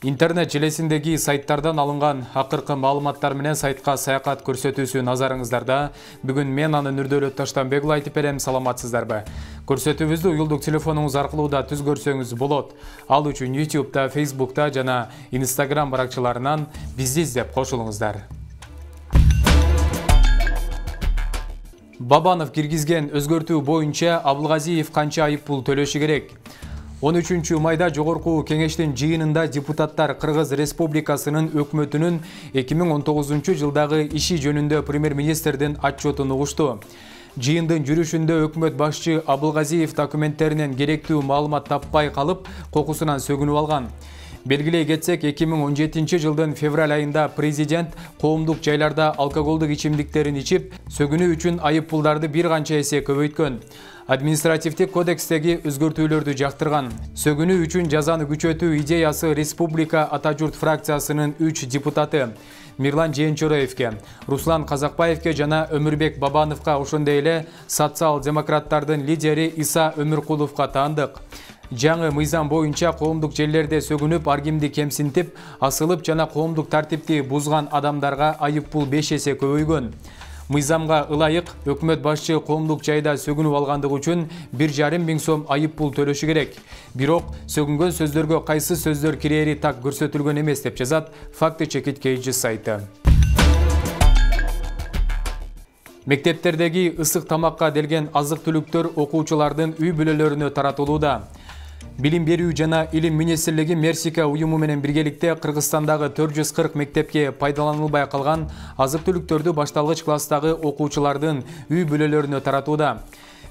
Интернет желесиндеги сайттардан алынган акыркы маалыматтар менен сайтка саякат көрсөтүүсү назарыңыздарда. Бүгүн мен аны Нурдөлөт Таштанбекұлы айтып берем, саламатсыздарбы? Көрсөтүүбүздү уюлдук телефонуңуз аркылуу да түз көрсөңүз болот. Ал үчүн YouTube'да, Facebook'та жана Instagram баракчаларынан бизди издеп кошулуңуздар. Бабанов киргизген өзгөртүү боюнча Абылгазиев канча айыппул төлөшү керек? 13 майда Жогорку кеңештин жыйынында депутаттар Кыргыз Республикасынын өкмөтүнүн 2019 жылдагы иши жөнүндө премьер-министрдин отчетун угушту. Жыйындын жүрүшүндө өкмөт башчы Абылгазиев документтеринен керектүү маалымат таппай калып, кокусунан сөгүнүп алган. Белгилей кетсек, 2017 жылдын февраль айында президент коомдук жайларда алкоголдук ичимдиктерин ичип, сөгүнүү үчүн айыппулдарды бир канча эсе көбөйткөн. Административдик кодекстеги өзгөртүүлөрдү жактырган. Сөгүнүү үчүн жазаны күчөтүү идеясы Республика Ата журт фракциясынын 3 депутаты Мирлан Жээнчороевке, Руслан Казакбаевке жана Өмүрбек Бабановго, ошондой эле социал-демократтардын лидери Иса Өмүркуловго таандык. Жаңы мыйзам боюнча коомдук жерлерде сөгүнүп, ар кимди кемсинтип, асылып жана коомдук тартипти бузган адамдарга айыппул 5 эсе көбөйгөн. Мыйзамга ылайык өкмөт башчы коомдук жайда сөгүнүп алгандыгы үчүн 1,5 миң сом айыппул төлөшү керек. Бирок сөгүнгөн сөздөргө кайсы сөздөр кирери так көрсөтүлгөн эмес деп жазат Факты Чекит KG сайты. Мектептердеги ысык тамакка делген азык-түлүктөр окуучулардын үй бүлөлөрүнө таратылууда. Билим берүү жана илим министрлиги Мерсика уюму менен биргеликте Кыргызстандагы 440 мектепке пайдаланылбай калган азык-түлүктөрдү башталгыч класстагы окуучулардын үй бүлөлөрүнө таратууда.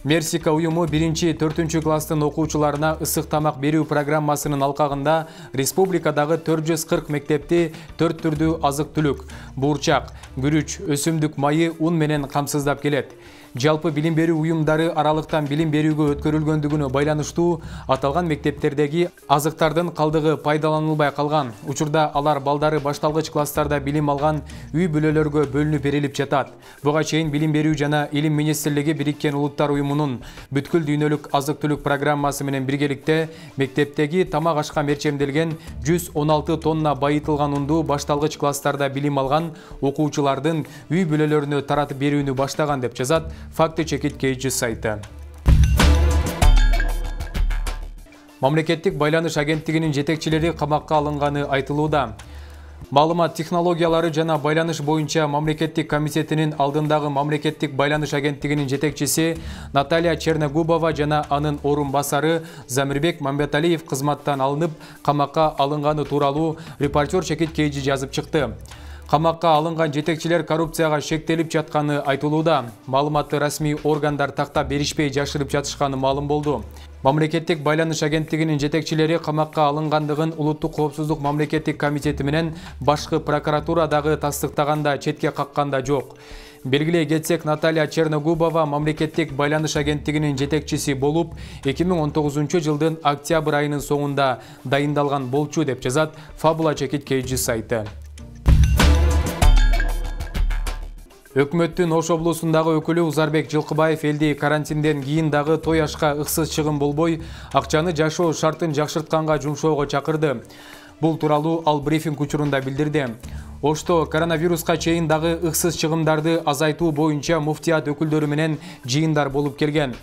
Мерсика уюму 1-4 класстын окуучуларына ысык тамак берүү программасынын алкагында республикадагы 440 мектепти 4 түрдүү азык-түлүк, буурчак, күрүч, өсүмдүк майы, ун менен камсыздап келет. Жалпы билим берүү уюмдары аралыктан билим берүүгө өткөрүлгөндүгүнө байланыштуу аталган мектептердеги азыктардын калдыгы пайдаланылбай калган. Учурда алар балдары башталгыч класстарда билим алган үй бүлөлөргө бөлүнүп берилип жатат. Буга чейин билим берүү жана илим министрлиги Бириккен Улуттар уюмунун бүткүл дүйнөлүк азык-түлүк программасы менен биргеликте мектептеги тамак ашка мерчемделген 116 тонна байытылган унду башталгыч класстарда билим алган окуучулардын үй бүлөлөрүнө таратып берүүнү баштаган деп жазат Факты Чекит KG сайты. Мамлекеттик байланыш агенттигинин жетекчилери камакка алынганы айтылууда. Маалымат технологиялары жана байланыш боюнча мамлекеттик комитетинин алдындагы мамлекеттик байланыш агенттигинин жетекчиси Наталья Черногубова жана анын орун басары Замирбек Мамбеталиев кызматтан алынып, камакка алынганы тууралуу Репортер Чекит KG жазып чыкты. Камакка алынган жетекчилер коррупцияга шектелип жатканы айтылууда. Маалыматты расмий органдар тактап беришпей жашырып жатышканы маалым болду. Мамлекеттик байланыш агенттигинин жетекчилери камакка алынгандыгын Улуттук коопсуздук мамлекеттик комитети менен башкы прокуратура дагы тастыктаганда, четке какканда жок. Белгилей кетсек, Наталья Черногубова мамлекеттик байланыш агенттигинин жетекчиси болуп, 2019 жылдын октябрь айынын соңунда дайындалган болчу деп жазат Фабула Чекит KG сайты. Өкмөттүн Ош облусундагы өкүлү Узарбек Жылкыбаев элди карантинден кийин дагы той ашка ыксыз чыгым болбой, акчаны жашоо шартын жакшыртканга жумшоого чакырды. Бул тууралуу ал брифинг учурунда билдирди. Ошто коронавируска чейин дагы ыксыз чыгымдарды азайтуу боюнча муфтият өкүлдөрү менен жыйындар болуп келген.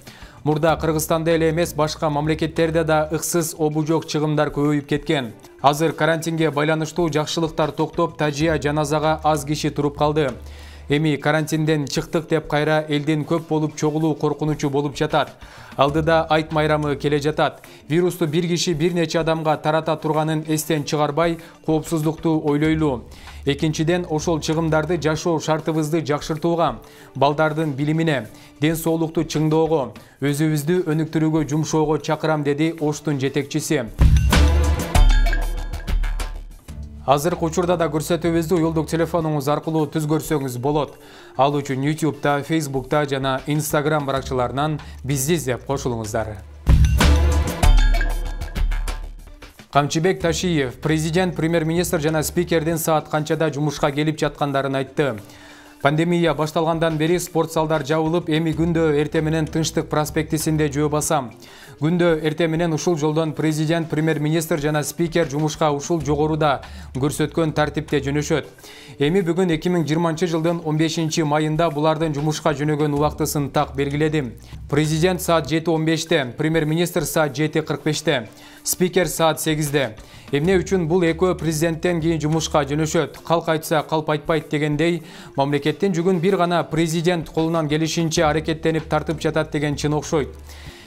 Мурда Кыргызстанда эле эмес, башка мамлекеттерде да ыксыз обужок чыгымдар көбөйүп кеткен. Азыр карантинге байланыштуу жакшылыктар токтоп, тажия жаназага аз киши туруп калды. Эми карантинден чыктык деп кайра элдин көп болуп чогулуу коркунучу болуп жатат. Алдыда айт майрамы келе жатат. Вирусту бир киши бир нече адамга тарата турганын эстен чыгарбай, коопсуздукту ойлойлу. Экинчиден, ошол чыгымдарды жашоо шартыбызды жакшыртууга, балдардын билимине, ден соолукту чыңдоого, өзүбүздү өнүктүрүүгө жумшоого чакырам, деди Оштун жетекчиси. Азыркы учурда да көрсөтүүбүздү уюлдук телефонуңуз аркылуу түз көрсөңүз болот. Ал үчүн YouTube'да, Facebook'та жана Instagram баракчаларынан бизди издеп кошулуңуздар. Камчыбек Ташиев президент, премьер-министр жана спикердин саат канчада жумушка келип жаткандарын айтты. Пандемия башталгандан бери спорт залдар жабылып, эми күндө эрте менен Тынчтык проспектисинде жөө басам. Күндө эрте менен ушул жолдон президент, премьер-министр жана спикер жумушка ушул жогоруда көрсөткөн тартипте жөнөшөт. Эми бүгүн 2020 жылдын 15 майында булардын жумушка жөнөгөн убактысын так белгиледим. Президент саат 7:15-те, премьер-министр саат 7:45-те, спикер саат 8-де. Эмне үчүн бул экөө президенттен кийин жумушка жөнөшөт? Калк айтса калп айтпайт дегендей, мамлекеттин жүгүн бир гана президент колунан келишинче аракеттенип тартып жатат деген чын окшойт.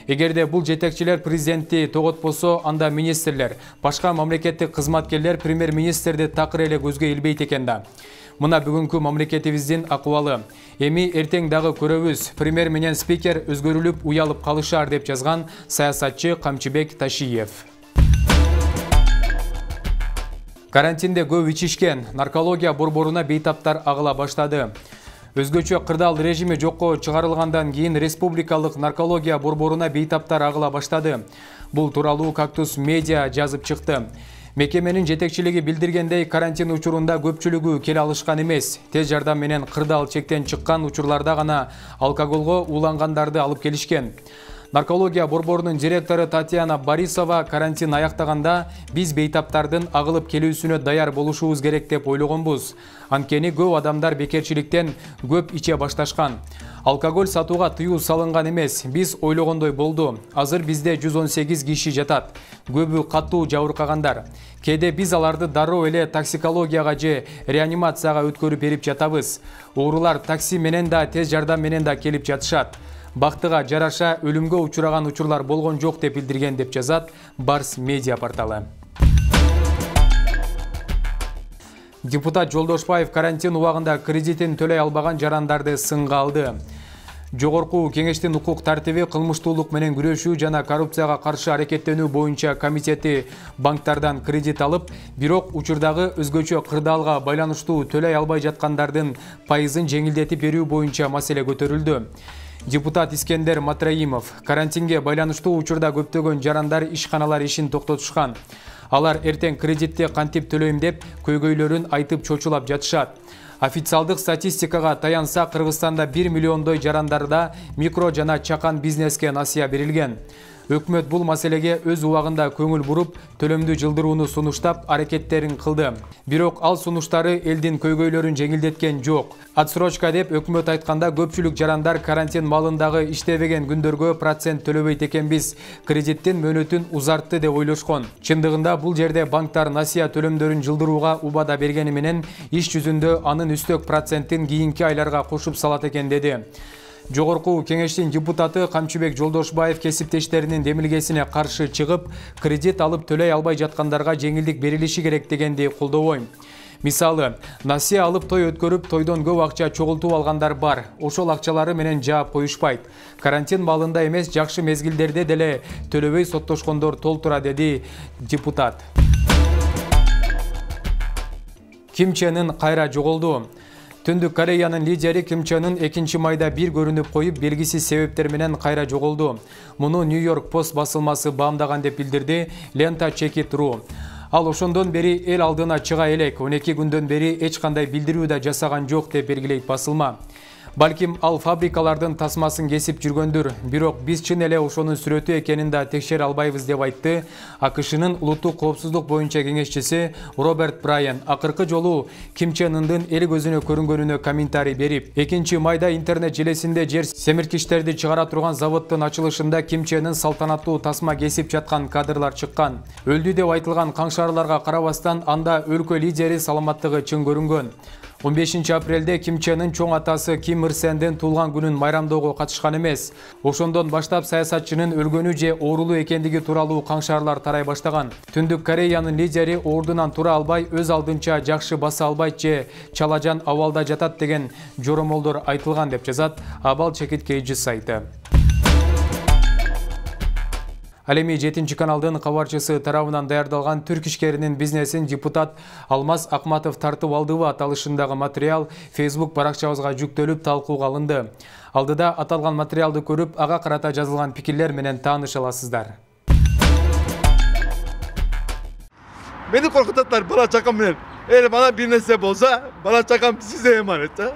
Эгерде бул жетекчилер президентти тоготпосо, анда министрлер, башка мамлекеттик кызматкерлер премьер-министрди такыр эле көзгө илбейт экен да. Мына бүгүнкү мамлекетибиздин акыбалы. Эми эртең дагы көрөбүз. Премьер менен спикер өзгөрүлүп, уялып калышар деп жазган саясатчы Камчыбек Ташиев. Карантинде көп ичишкен, наркология борборуна бейтаптар агыла баштады. Өзгөчө кырдаал режими жокко чыгарылгандан кийин республикалык наркология борборуна бейтаптар агыла баштады. Бул тууралуу Кактус медиа жазып чыкты. Мекеменин жетекчилиги билдиргендей, карантин учурунда көпчүлүгү келе алышкан эмес. Тез жардам менен кырдаал чектен чыккан учурларда гана алкоголго уулангандарды алып келишкен. Наркология борборунун директору Татьяна Борисова карантин аяктаганда биз бейтаптардын агылып келүүсүнө даяр болушубуз керек деп ойлогонбуз. Анткени көп адамдар бекерчиликтен көп иче башташкан. Алкоголь сатууга тыюу салынган эмес, биз ойлогондой болду. Азыр бизде 118 киши жатат. Көбү катуу жабыркагандар. Кээде биз аларды дароо эле токсикологияга же реанимацияга өткөрүп берип жатабыз. Оорулар такси менен да, тез жардам менен да келип жатышат. Бактыга жараша өлүмгө учураган учурлар болгон жок деп билдирген деп жазат Барс медиа порталы. Депутат Жолдошбаев карантин убагында кредитин төлөй албаган жарандарды сынга алды. Жогорку кеңештин укук тартиби, кылмыштуулук менен күрөшүү жана коррупцияга каршы аракеттенүү боюнча комитети банктардан кредит алып, бирок учурдагы өзгөчө кырдаалга байланыштуу төлөй албай жаткандардын пайызын жеңилдетип берүү боюнча маселе көтөрүлдү. Депутат Искендер Матраимов карантинге байланыштуу учурда көптөгөн жарандар ишканалар ишин токтотушкан. Алар эртең кредитти кантип төлөйм деп көйгөйлөрүн айтып чочулап жатышат. Официалдык статистикага таянса, Кыргызстанда 1 миллиондой жарандарда микро жана чакан бизнеске насыя берилген. Өкмөт бул маселеге өз убагында көңүл буруп, төлөмдү жылдырууну сунуштап, аракеттерин кылды. Бирок ал сунуштары элдин көйгөйлөрүн жеңилдеткен жок. Отсрочка деп өкмөт айтканда, көпчүлүк жарандар карантин малындагы иштебеген күндөргө процент төлөбөйт экенбиз, кредиттин мөөнөтүн узартты деп ойлошкон. Чындыгында бул жерде банктар насыя төлөмдөрүн жылдырууга убада бергени менен, иш жүзүндө анын үстөк процентин кийинки айларга кошуп салат экен деди. Жогорку кеңештин депутаты Камчыбек Жолдошбаев кесиптештеринин демилгесине каршы чыгып, кредит алып төлөй албай жаткандарга жеңилдик берилиши керек дегенди колдобойм. Мисалы, насыя алып той өткөрүп, тойдон көп акча чогултуп алгандар бар. Ошол акчалары менен жаап коюшпайт. Карантин малында эмес, жакшы мезгилдерде деле төлөбөй соттошкондор толтура, деди депутат. Ким Чен Ын кайра жоголду. Түндүк Кореянын лидери Ким Чен Ын 2 майда бир көрүнүп коюп, белгисиз себептер менен кайра жоголду. Муну Нью-Йорк Пост басылмасы баамдаган деп билдирди Лента Check.ru. Ал ошондон бери эл алдына чыга элек, 12 күндөн бери эч кандай билдирүү да жасаган жок деп белгилейт басылма. Балким ал фабрикалардын тасмасын кесип жүргөндүр, бирок биз чын эле ошонун сүрөтү экенин да текшере албайбыз деп айтты АКШнын улуттук коопсуздук боюнча кеңешчиси Роберт Брайан. Акыркы жолу Ким Чен Ындын эл көзүнө көрүнгөнүнө комментарий берип, 2 майда интернет желесинде жер семирткичтерди чыгара турган заводдун ачылышында Ким Чен Ын салтанаттуу тасма кесип жаткан кадрлар чыккан. Өлдү деп айтылган каңшаарларга карабастан, анда өлкө лидери саламаттыгы чың көрүнгөн. 15 апрелде Ким Чен Ын чоң атасы Ким Ир Сендин туулган күнүн майрамдоого катышкан эмес. Ошондон баштап саясатчынын өлгөнү же оорулуу экендиги тууралуу каңшаарлар тарай баштаган. Түндүк Кореянын лидери ордунан тура албай, өз алдынча жакшы баса албайт же чалажан абалда жатат деген жоромолдор айтылган деп жазат Абал Чекиткейжи сайты. Ал эми 7 каналдын кабарчысы тарабынан даярдалган түрк ишкеринин бизнесин депутат Алмаз Акматов тартып алдыбы аталышындагы материал Facebook баракчабызга жүктөлүп талкууга алынды. Алдыда аталган материалды көрүп, ага карата жазылган пикирлер менен тааныша аласыздар. Мени коркутаттар бала чакам менен. Мана бир нерсе болсо, бала чакам сизде эманет да.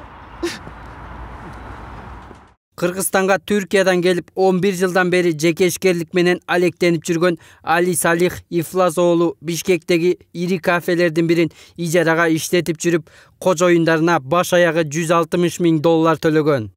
Кыргызстанга Түркиядан келип 11 жылдан бери жекешкерлик менен алектенип жүргөн Али Салих Ифлас оолу Бишкектеги ири кафелердин бирин ижарага иштетип жүрүп, кожоюндарына баш аягы $160 000 төлөгөн.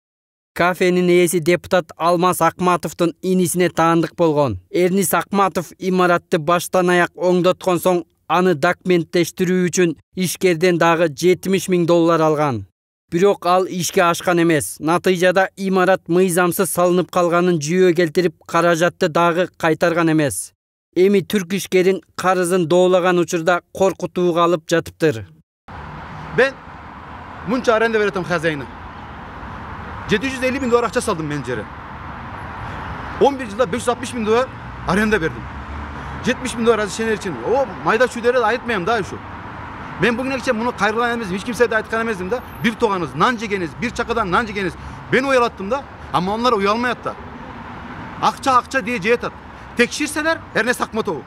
Кафенин ээси депутат Алмаз Акматовдун инисине таандык болгон. Эрнис Акматов имаратты баштан аяк оңдоткон соң аны документтештирүү үчүн ишкерден дагы $70 000 алган. Бирок ал ишке ашкан эмес. Натыйжада имарат мыйзамсыз салынып калганын жүйө келтирип, каражатты дагы кайтарган эмес. Эми түрк ишкерин карызын доолаган учурда коркутууга алып жатыптыр. Ben мунча аренда беретим хозяйына. $750 000 акча салдым мен жере. 11 жылда $560 000 аренда бердим. $70 000 разрешение için. O майда чүдөрү айтпайм да ушу. Мен бүгүнкүчө муну кайрылган эмес, эч кимсе да айткан эмесмин да. Бир тоганыбыз нан жегенбиз, бир чакадан нан жегенбиз. Мен уялаттым да, ама onlar уялмайат да. Акча дей жетат. Текширселер, Эрнес Акматов.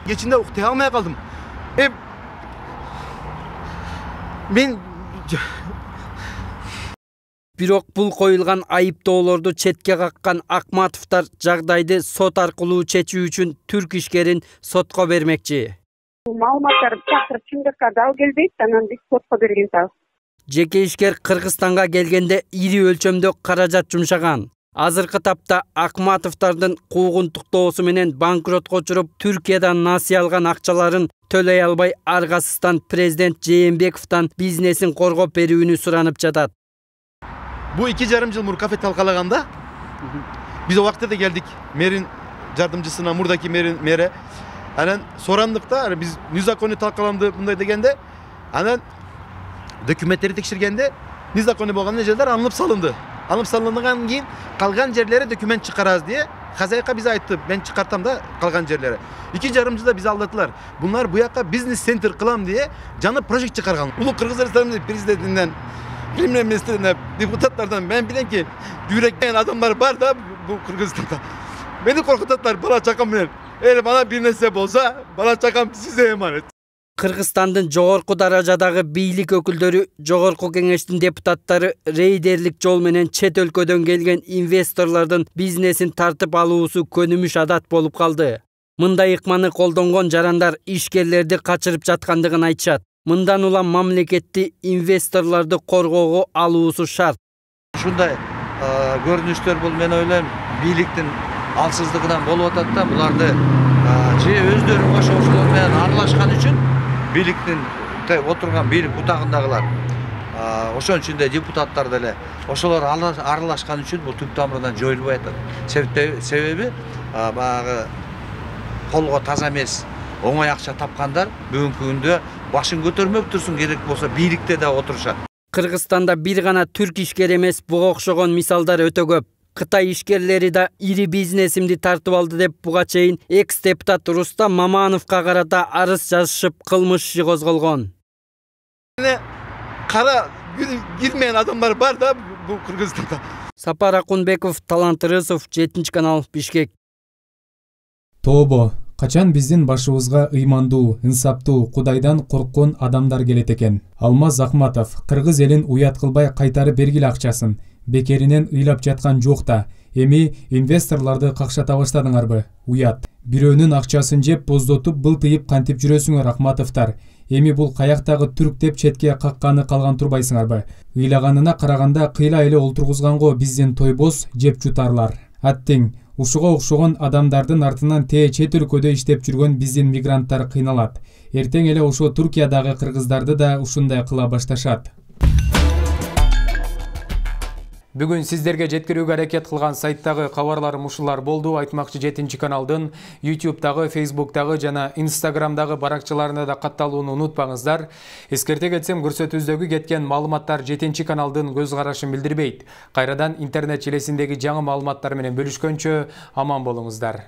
Кечинде уктай алмай калдым. Мен Бирок бул коюлган айыптоолорду четке каккан Акматовдор жагдайды сот аркылуу чечүү үчүн түрк ишкерин сотко бермекчи. Маалыматтар чакырып чындыкка дал келбейт, анан биз сотко бергенбиз. Жеке ишкер Кыргызстанга келгенде ири өлчөмдө каражат жумшаган. Азыркы тапта Акматовдордун куугунтуктоосу менен банкротко учуруп, Түркиядан насыя алган акчаларын төлөй албай аргасыздан президент Жээнбековдон бизнесин коргоп берүүнү суранып жатат. Bu 2,5 yıl Murkafe talkalaganda biz o vakte de geldik merin yardımcısına, Murdaki mere. Anan sorandıkta biz nizakonu talkalandı bunday degende anan dokümentleri tekşirgende nizakonu bolgan nejeler alınıp salındı. Alınıp salındıgan keyin kalgan yerlere doküment çıkaraz diye Kazayka bize ayttı. Ben çıkartam da kalgan yerlere. 2,5 yılda bizi aldatılar. Bunlar bu yakka business center kılam diye canı proje çıkargan. Ulu Kırgızistan prezidentinden Bilimler Ministeri'nden, deputatlardan ben bilen ki yürekleyen adamlar var da bu Kırgızistan'da. Beni korkutatlar, bana çakam bilen. Eğer bana bir nesep olsa, bana çakam size emanet. Kırgızstandın jogorku darajadagı biйлик өкүлдөрү, жогорку кеңештин депутаттары рейдерлик жол менен чет өлкөдөн келген инвесторлордун бизнесин тартып алуусу көнүмүш адат болуп калды. Мындай ыкманы колдонгон жарандар ишкерлерди качырып жаткандыгын айтышат. Мындан улам мамлекетти инвесторлорду коргоого алуусу шарт. Ушундай көрүнүштөр бул мен ойлойм бийликтин алсыздыгынан болуп атат да, буларды же өздөрү ошолор менен аралашкан үчүн бийликтин отурган бийлик бутагындагылар ошон үчүн да депутаттар деле ошолор аралашкан үчүн бул түп тамырынан жоюлбай атат. Себеби баягы колго таза эмес оңой акча тапкандар бүгүнкү күндө башын көтөрмөк турсун, керек болсо бийликте да отурушат. Кыргызстанда бир гана түрк ишкер эмес, буга окшогон мисалдар өтө көп. Кытай ишкерлери да ири бизнесимди тартып алды деп буга чейин экс-депутат Рустам Мамановго карата арыз жазышып, кылмыш иши козголгон. Кара girmeyen adamlar var da bu Kırgızistan'da. Сапар Акунбеков, Талант Рысов, 7 канал, Бишкек. Тобо, качан биздин башыбызга ыймандуу, инсаптуу, Кудайдан корккон адамдар келет экен. Алмаз Акматов, кыргыз элин уят кылбай кайтарып бергиле акчасын. Бекеринен ыйлап жаткан жок да. Эми инвесторлорду какшата баштадыңарбы? Уят. Бирөөнүн акчасын жеп, боздотуп, былтыйып кантип жүрөсүңөр, Акматовдор? Эми бул каяктагы түрк деп четке какканы калган турбайсыңарбы? Ыйлаганына караганда кыйла эле олтургузганго биздин тойбоз жеп жутарлар. Аттең, ушуга окшогон адамдардын артынан чет өлкөдө иштеп жүргөн биздин мигранттар кыйналат. Эртең эле ошо Туркиядагы кыргыздарды да ушундай кыла башташат. Бүгүн сиздерге жеткирүүгө аракет кылган сайттагы кабарларым ушулар болду. Айтмакчы 7 каналдын YouTube'дагы, Facebook'дагы жана Instagram'дагы баракчаларына да катталууну унутпаңыздар. Эскерте кетсем, көрсөтүүбүздөгү кеткен маалыматтар 7 каналдын көз карашын билдирбейт. Кайрадан интернет желесиндеги жаңы маалыматтар менен бөлүшкөнчө аман болуңуздар.